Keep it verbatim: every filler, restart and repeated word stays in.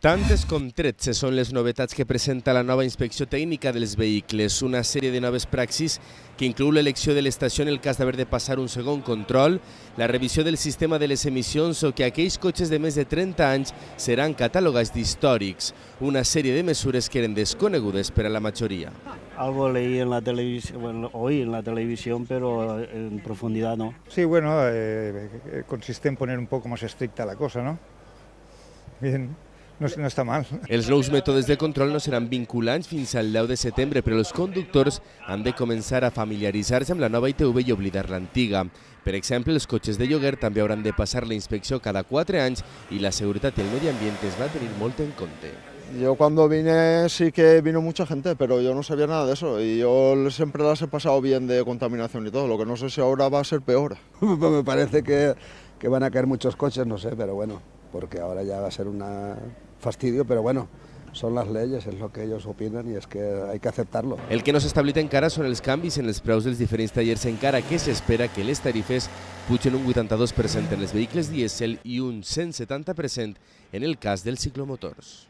Tantes com tretze són les novetats que presenta la nova inspecció tècnica dels vehicles, una sèrie de noves praxis que inclou l'elecció de l'estació en el cas d'haver de passar un segon control, la revisió del sistema de les emissions o que aquells cotxes de més de trenta anys seran catalogats d'històrics, una sèrie de mesures que eren desconegudes per a la majoria. Algo leí en la televisión, bueno, oí en la televisión, pero en profundidad no. Sí, bueno, eh, consiste en poner un poco más estricta la cosa, ¿no? Bien. No, no està mal. Els nous mètodes de control no seran vinculants fins al deu de setembre, però els conductors han de començar a familiaritzar-se amb la nova I T V i oblidar l'antiga. Per exemple, els cotxes de lloguer també hauran de passar la inspecció cada quatre anys i la seguretat i el medi ambient es va tenir molt en compte. Yo cuando vine sí que vino mucha gente, pero yo no sabía nada de eso y yo siempre las he pasado bien de contaminación y todo, lo que no sé si ahora va a ser peor. Me parece que, que van a caer muchos coches, no sé, pero bueno, porque ahora ya va a ser un fastidio, pero bueno, son las leyes, es lo que ellos opinan y es que hay que aceptarlo. El que no s'ha establit encara són els canvis en els preus dels diferents tallers, encara que s'espera que les tarifes pugen un vuitanta-dos per cent en els vehicles dièsel i un cent setanta per cent en el cas dels ciclomotors.